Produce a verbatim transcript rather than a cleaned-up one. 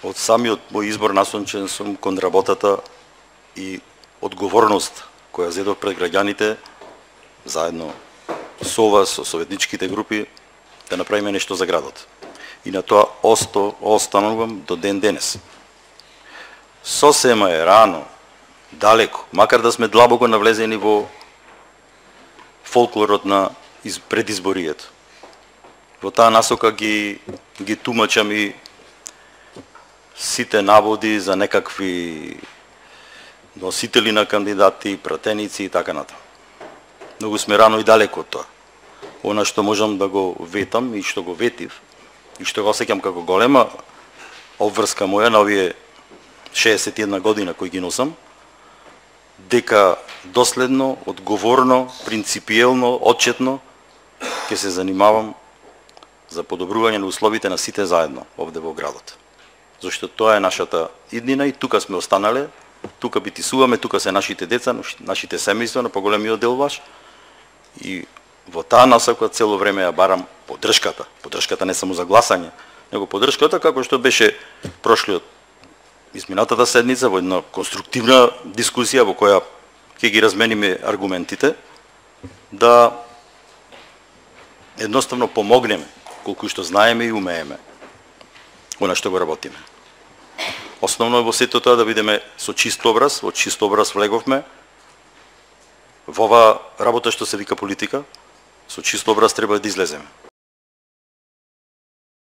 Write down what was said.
Од самиот мој избор насочен сум кон работата и одговорност која зедов пред граѓаните, заедно со вас, со советничките групи, да направиме нешто за градот. И на тоа осто останувам до ден денес. Сосема е рано, далеко, макар да сме длабоко навлезени во фолклорот на предизборието. Во таа насока ги ги тумачам и сите наводи за некакви носители на кандидати, пратеници и така натаму. Многу сме рано и далеко од тоа. Она што можам да го ветам и што го ветив и што го осеќам како голема обврска моја на овие шеесет и една година кои ги носам, дека доследно, одговорно, принципиелно, отчетно ќе се занимавам за подобрување на условите на сите заедно овде во градот. Зашто тоа е нашата иднина и тука сме останале, тука битисуваме, тука се нашите деца, нашите семејства на поголемиот дел ваш. И во таа насока цело време ја барам поддршката. Поддршката не само за гласање, него поддршката како што беше прошлиот изминатата седница во една конструктивна дискусија во која ќе ги размениме аргументите, да едноставно помогнеме колку што знаеме и умееме она што го работиме. Основно е во сето тоа да бидеме со чист образ, во чист образ влеговме во ова работа што се вика политика, со чист образ треба да излеземе.